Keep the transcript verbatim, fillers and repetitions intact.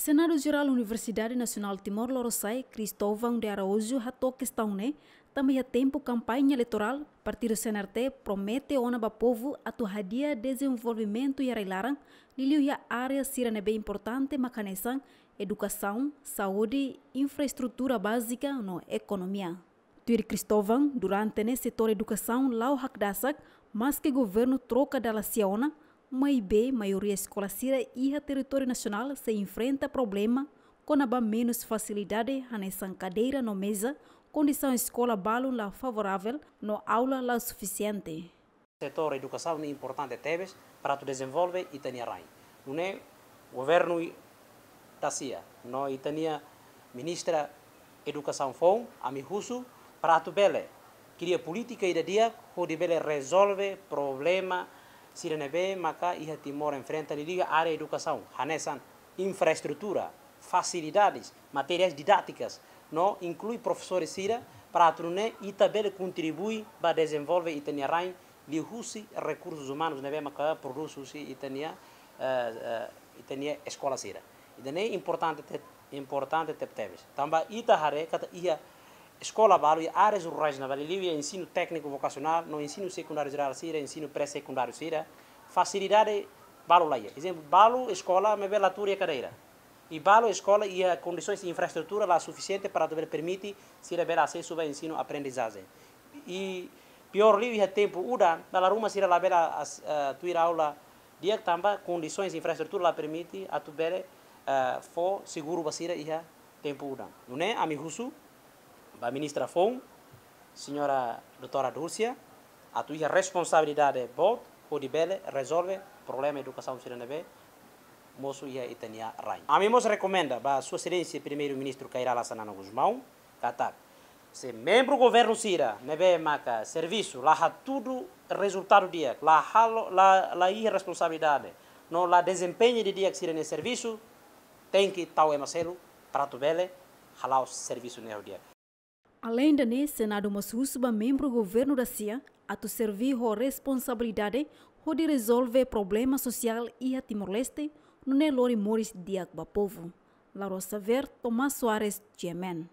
Senadu Jerál Universidade Nasionál Timor Lorosa'e, Cristóvão de Araújo, hato'o kestaun ne'e, tanba iha tempu kampaña eleitorál, partidu C N R T promete ona ba povu atu hadi'a dezenvolvimentu iha rai-laran, liuliu iha área sira ne'ebé importante mak hanesan edukasaun, saúde, infraestrutura bázika no ekonomia. Tuir Cristóvão, durante ne'e setór edukasaun la'o hakdasak, maske governu troka dala sia ona, maibé maioria eskola sira iha territóriu nasionál sei enfrenta problema kona-ba menus fasilidade hanesan kadeira no meza, kondisaun eskola balun la favorável no aula la sufisiente. Setór edukasaun ne'e importante tebes para atu dezenvolve ita-nia rain. Nune'e governu i-, da sia, no ita-nia ministra edukasaun foun, ami husu para atu bele kria polítika ida di'ak hodi bele rezolve problema sira ne'ebé maka iha Timor enfrenta liuliu área edukasaun, hanesan infraestrutura, fasilidades, materiais didátikas, no inklui profesores sira, para atu nune'e ita bele kontribui ba dezenvolve ita-nia rain liuhusi rekursus umanus ne'ebé maka prodús husi ita-nia, eh, eh, ita-nia eskola sira. Ida-ne'e importante te-, importante tebetebes. Tanba ita haree katak iha eskola balu iha áreas rurais ne'ebá liuliu iha ensinu tékniku vokasionál, no ensinu sekundáriu jerál sira, ensinu pré-sekundáriu sira, fasilidade balu la iha. Ezemplu, balu eskola maibé la tuur iha kadeira. I balu eskola iha kondisoens infraestrutura la sufisiente para atu bele permite sira bele asesu ba ensinu aprendizajen. I piór liu iha tempu udan, dala ruma sira labele as-, eh, tuir aula di'ak tanba kondisoens infraestrutura la permite atu bele, eh, fó seguru ba sira iha tempu udan. Nune'e ami husu ba ministra foun, señora doutora Dulcia, atu iha responsabilidade boot hodi bele rezolve problema edukasaun sira ne'ebé mosu iha ita-nia rain. Ami mós rekomenda ba Sua Exelénsia Primeiru-Ministru Kay Rala Xanana Gusmão katak, se membru governu sira ne'ebé maka servisu la hatudu rezultadu di'ak, la halo, la, la iha responsabilidade, no la dezempeña didi'ak sira-nia servisu, tenke tau ema seluk para atu bele hala'o servisu ne'e ho di'ak. Aleinde ne'e, Senadu mós husu ba membru governu da sia atu serví ho responsabilidade hodi rezolve problema sosiál iha Timor-Leste, nune'e lori moris di'ak ba povu. Laura Xavier, Tomás Soares, G M N.